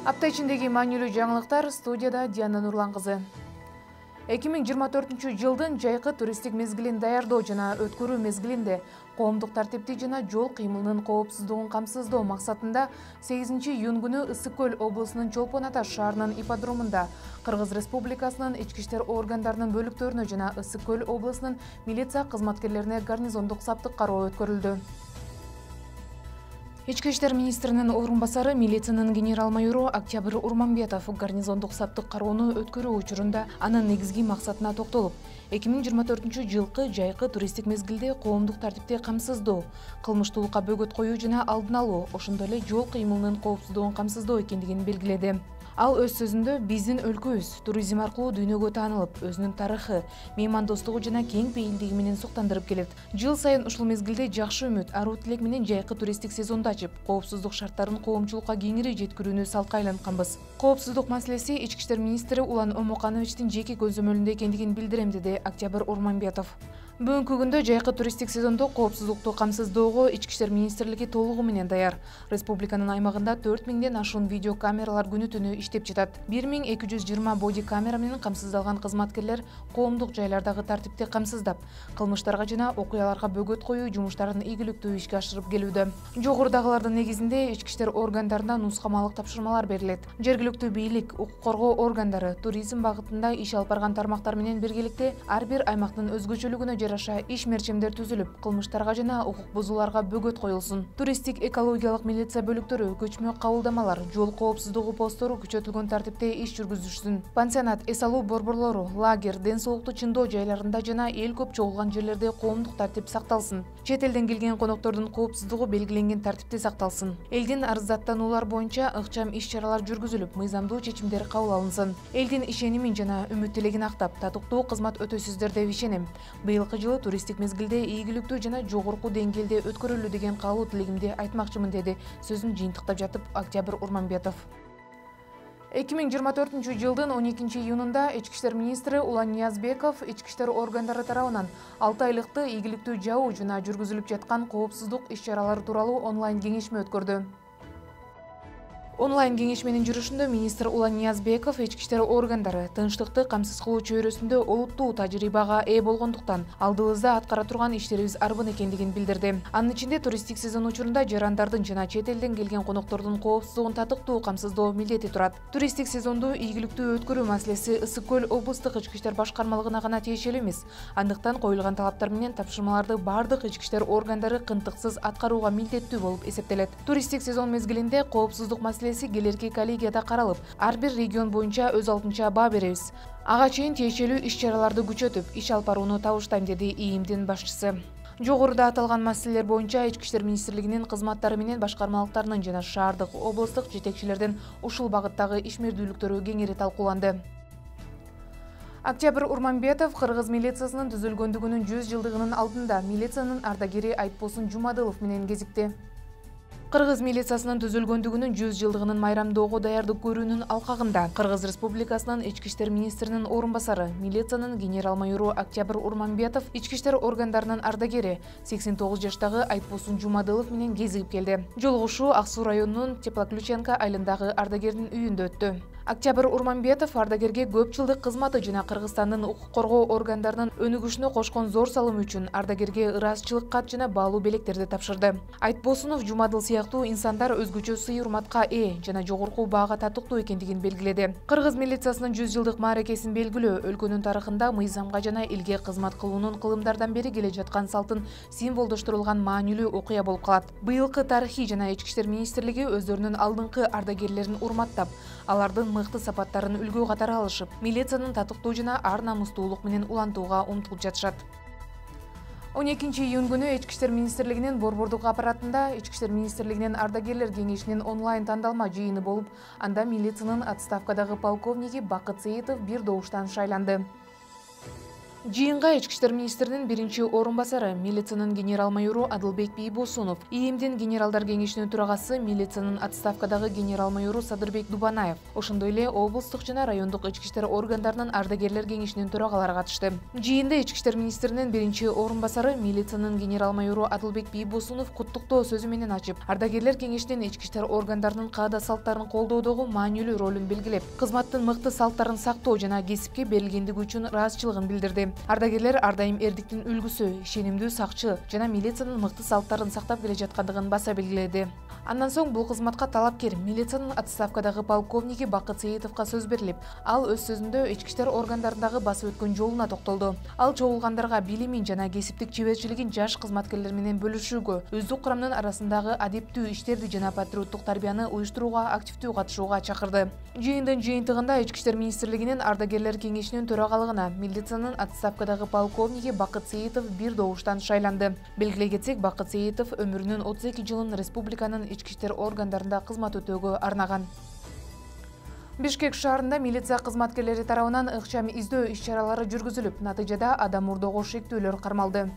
Апта ичиндеги маанилүү жаңылыктар, студияда Диана Нурлан кызы. 2024 жылдын жайкы туристтик мезгилин даярдоо жана өткөрүү мезгилинде коомдук тартипти жана жол кыймылынын коопсуздугун камсыздоо максатында 8-июнь күнү Ысык көл облусунун Чолпон Ата шаарынын ипподромунда Кыргыз Республикасынын ички иштер органдарынын бөлүктөрүнө жана Ысык көл облусунун милиция кызматкерлерине гарнизондук саптык кароо өткөрүлдү. Ички иштер министринин орун басары милициянын генерал-майору Октябрь Урманбетов гарнизондук саптык кароону өткөрүү учурунда анын негизги максатына токтолуп, 2024 жылкы жайкы туристтик мезгилде коомдук тартипти камсыздоо, кылмыштуулукка бөгөт коюу жана алдын алуу, ошондой эле жол кыймылынын коопсуздугун камсыздоо экендигин белгиледи. Ал өз сөзүндө биздин өлкөбүз туризм аркылуу дүйнөгө таанылып, өзүнүн тарыхы, меймандостугу жана кең пейилдиги менен суктандырып келет. Жыл сайын ушул мезгилде жакшы үмүт, аруу тилек менен жайкы туристтик сезонду ачып, коопсуздук шарттарын коомчулукка кеңири жеткирүүнү салка айлантканбыз. Коопсуздук маселеси ички иштер министри Улан Омокановичтин жеке көзөмөлүндө экендигин билдирем, деди Октябрь Урманбетов. Бүгүнкү күндө жайкы туристтик сезондо коопсуздукту камсыздоого ички иштер министрлиги толугу менен даяр. Республиканын аймагында 4000ден ашуун видео камералар күнү-түнү иштеп жатат. 1220 боди камера менен камсыздалган кызматкерлер коомдук жайлардагы тартипти камсыздап, кылмыштарга жана окуяларга бөгөт коюу жумуштарын ийгиликтүү ишке ашырып келүүдө. Жогорудагылардын негизинде ички иштер органдарына нускамалык тапшырмалар берилет. Жергиликтүү бийлик, укук коргоо органдары, туризм багытында иш алып барган тармактар менен биргеликте ар бир аймактын өзгөчөлүгүнө жараша иш мерчемдер түзүлүп, кылмыштарга жана укук бузууларга бөгөт коюлсун. Туристтик экологиялык милиция бөлүктөрү, көчмө кабылдамалар, жол коопсуздугу посттору күчөтүлгөн тартипте иш жүргүзүшсүн. Пансионат, эс алуу борборлору, лагерь, ден соолукту чыңдоо жайларында жана эл көп чогулган жерлерде коомдук тартип сакталсын. Чет элден келген коноктордун коопсуздугу белгиленген тартипте сакталсын. Элдин арыздаттануулар боюнча ыкчам иш-чаралар жүргүзүлүп, мыйзамдуу чечимдер кабыл алынсын. Элдин ишенимин жана үмүт тилегин актап, татыктуу кызмат өтөсүздөр деп ишенем. Быйылкы жылы туристтик мезгилде ийгиликтүү жана жогорку деңгээлде өткөрүлү деген каалуу тилегимди айтмакчымын, деди сөзүн жыйынтыктап жатып Октябрь Урманбетов. 2024 жылдын 12-июнунда ички иштер министри Улан Ниязбеков ички иштер органдары тарабынан 6 айлыкты ийгиликтүү жабуу жана жүргүзүлүп жаткан коопсуздук иш-чаралары тууралуу онлайн кеңешме өткөрдү. Онлайн кеңешменин жүрүшүндө министр Улан Ниязбеков ички иштер органдары тынчтыкты камсыз кылуу чөйрөсүндө олуттуу тажрыйбага ээ болгондуктан алдыбызда аткара турган иштерибиз арбын экендигин билдирди. Анын ичинде туристтик сезон учурунда жарандардын жана чет элден келген коноктордун коопсуздугун татыктуу камсыздоо милдети турат. Туристтик сезонду ийгиликтүү өткөрүү маселеси Ысык көл облустук ички иштер башкармалыгына гана тиешелүү эмес. Андыктан коюлган талаптар менен тапшырмаларды бардык ички иштер органдары кынтыксыз аткарууга милдеттүү болуп эсептелет. Туристтик сезон мезгилинде коопсуздук келерки коллегияда каралып, ар бир регион боюнча өз алдынча баа беребиз. Ага чейин тиешелүү иш-чараларды күчөтүп, иш алып барууну табыштайм, деди ИИМдин башчысы. Жогоруда аталган маселелер боюнча ички иштер министрлигинин кызматтары менен башкармалыктарынын жана шаардык, облустук жетекчилердин ушул багыттагы ишмердүүлүктөрү кеңири талкууланды. Октябрь Урманбетов Кыргыз милициясынын түзүлгөндүгүнүн 100 жылдыгынын алдында милициянын ардагери Айтбосун Жумадылов менен кезикти. Кыргыз милициясынын түзүлгөндүгүнүн 100 жылдыгынын майрамдоого даярдык көрүүнүн алкагында Кыргыз Республикасынын ички иштер министринин орун басары, милициянын генерал-майору Октябрь Урманбетов ички иштер органдарынын ардагери 89 жаштагы Айтбосун Жумадылов менен кезигип келди. Жолугушуу Ак Суу районунун Теплоключенко айылындагы ардагердин үйүндө өттү. Октябрь Урманбетов ардагерге көп жылдык кызматы жана Кыргызстандын укук коргоо органдарынын өнүгүшүнө кошкон зор салымы үчүн ардагерге ыраазычылык кат жана баалуу белектерди тапшырды. Айтбосунов Жумадыл сыяктуу инсандар өзгөчө сый-урматка ээ жана жогорку баага татыктуу экендигин белгиледи. Кыргыз милициясынын 100 жылдык мааракесин белгилөө өлкөнүн тарыхында мыйзамга жана элге кызмат кылуунун кылымдардан бери келе жаткан салтын символдоштурулган маанилүү окуя болуп калат. Быйылкы тарыхый жана ички иштер министрлиги өздөрүнүн алдыңкы ардагерлерин урматтап, алардын мыкты сапаттарын үлгү катары алышып, милициянын татыктуу жана ар намустуулук менен улантууга умтулуп жатышат. 12-июнь күнү ички иштер министрлигинин борбордук аппаратында ички иштер министрлигинин ардагерлер кеңешинин онлайн тандалма жыйыны болуп, анда милициянын отставкадагы полковниги Бакыт Сеитов бир добуштан шайланды. Жыйынга Ички иштер министринин биринчи орун басары, милициянын генерал-майору Адылбек Бийбосунов, ИИМдин генералдар кеңешинин төрагасы, милициянын отставкадагы генерал-майору Садырбек Дубанаев, ошондой эле облустук жана райондук ички иштер органдарынын ардагерлер кеңешинин төрагалары катышты. Жыйында Ички иштер министринин биринчи орун басары, милициянын генерал-майору Адылбек Бийбосунов куттуктоо сөзү менен ачып, ардагерлер кеңешинин ички иштер органдарынын каада салттарын колдоодогу маанилүү ролун белгилеп, кызматтын мыкты салттарын сактоо жана кесипке берилгендиги үчүн ыраазычылыгын билдирди. Ардагерлер ар дайым эрдиктин үлгүсү, ишенимдүү сакчы жана милициянын мыкты салттарын сактап келе жаткандыгын баса белгиледи. Андан соң бул кызматка талапкер милициянын отставкадагы полковниги Бакыт Сейитовго сөз берилип, ал өз сөзүндө ички иштер органдарындагы басып өткөн жолуна токтолду. Ал чогулгандарга билимин жана кесиптик чеберчилигин жаш кызматкерлер менен бөлүшүүгө, өздүк курамдын арасындагы адептүү иштерди жана патриоттук тарбияны уюштурууга активдүү катышууга чакырды. Жыйындын жыйынтыгында Ички иштер министрлигинин ардагерлер кеңешинин төрагалыгына милициянын отставкадагы полковниги Бакыт Сейитов бир добуштан шайланды. Белгилей кетсек, Бакыт Сейитов өмүрүнүн 32 жылын республиканын ички иштер органдарында кызмат өтөөгө арнаган. Бишкек шаарында милиция кызматкерлери тарабынан ыкчам издөө иш-чаралары жүргүзүлүп, натыйжада адам мурдоого шектүүлөр кармалды.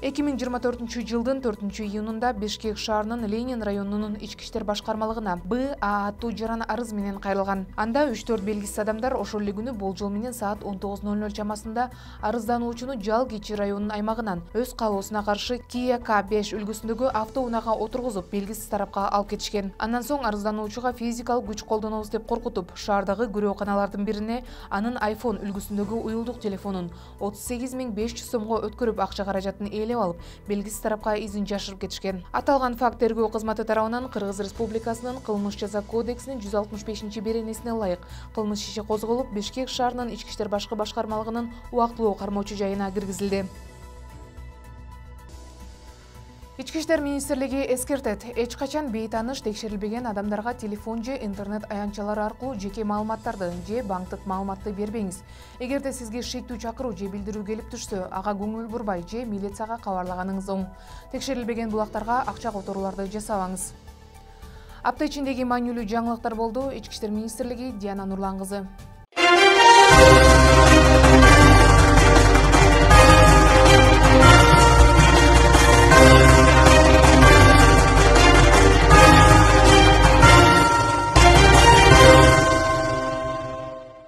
2024 жылдын 4-июнунда Бишкек шаарынын Ленин районунун ички иштер башкармалыгына БА аттуу жаран арыз менен кайрылган. Анда 3-4 белгисиз адамдар ошол эле күнү болжол менен саат 19:00 чамасында арыздануучуну Жал Кичи районунун аймагынан өз каалоосуна каршы Kia K5 үлгүсүндөгү автоунаага отургузуп, белгисиз тарапка алып кетишкен. Андан соң арыздануучуга физикалык күч колдонобуз деп коркутуп, шаардагы күрөөканалардын бирине анын iPhone үлгүсүндөгү уюлдук телефонун 38.500 сомго өткөрүп, акча каражатын алып, белгисиз тарапка изин жашырып кетишкен. Аталган факт тергөө кызматы тарабынан Кыргыз Республикасынын кылмыш жаза кодексинин 165-беренесине ылайык кылмыш иши козголуп, Бишкек шаарынын ички иштер башкы башкармалыгынын убактылуу кармоочу жайына киргизилди. Ички иштер министрлиги эскертет: эч качан бейтааныш текшерилбеген адамдарга телефон же интернет аянтчалары аркылуу жеке маалыматтарды же банктык маалыматты бербеңиз. Эгерде сизге шектүү чакыруу же билдирүү келип түшсө, ага көңүл бурбай же милицияга кабарлаганыңыз оң. Текшерилбеген булактарга акча которууларды жасабаңыз. Апта ичиндеги маанилүү жаңылыктар болду. Ички иштер министрлиги, Диана Нурлан кызы.